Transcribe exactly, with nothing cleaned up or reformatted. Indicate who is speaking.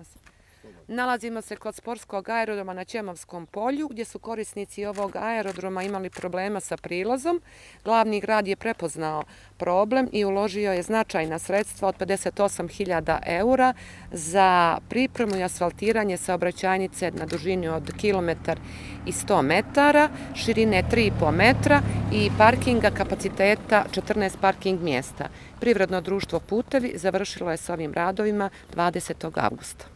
Speaker 1: vas. Nalazimo se kod sportskog aerodroma na Ćemovskom polju, gdje su korisnici ovog aerodroma imali problema sa prilazom. Glavni grad je prepoznao problem i uložio je značajna sredstva od pedeset osam hiljada eura za pripremu i asfaltiranje saobraćajnice na dužini od kilometar i sto metara, širine tri i po metra i parkinga kapaciteta četrnaest parking mjesta. Privredno društvo Putevi završilo je s ovim radovima dvadesetog avgusta.